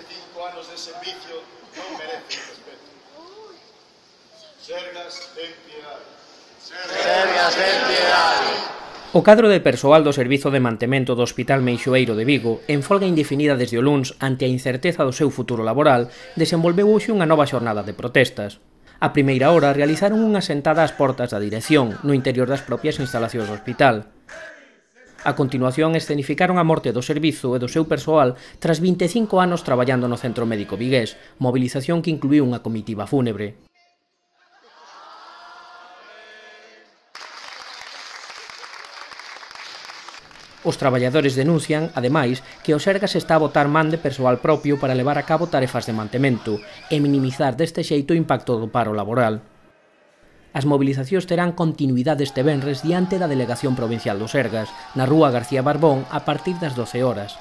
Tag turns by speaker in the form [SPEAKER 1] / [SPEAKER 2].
[SPEAKER 1] 25 anos de servicio non merecen respeto. Sergas, ten piedade.
[SPEAKER 2] Sergas, ten piedade.
[SPEAKER 3] O cadro de persoal do Servizo de Mantemento do Hospital Meixoeiro de Vigo, en folga indefinida desde o luns ante a incerteza do seu futuro laboral, desenvolveu hoxe unha nova xornada de protestas. A primeira hora realizaron unha sentada ás portas da dirección, no interior das propias instalacións do hospital. A continuación escenificaron a morte do servizo e do seu persoal tras 25 anos traballando no Centro Médico Vigués, mobilización que incluíu unha comitiva fúnebre. Os traballadores denuncian, ademais, que o Sergas está a botar man de persoal propio para levar a cabo tarefas de mantemento e minimizar deste xeito o impacto do paro laboral. As mobilizacións terán continuidade este venres diante da Delegación Provincial do Sergas, na rúa García Barbón, a partir das 12 horas.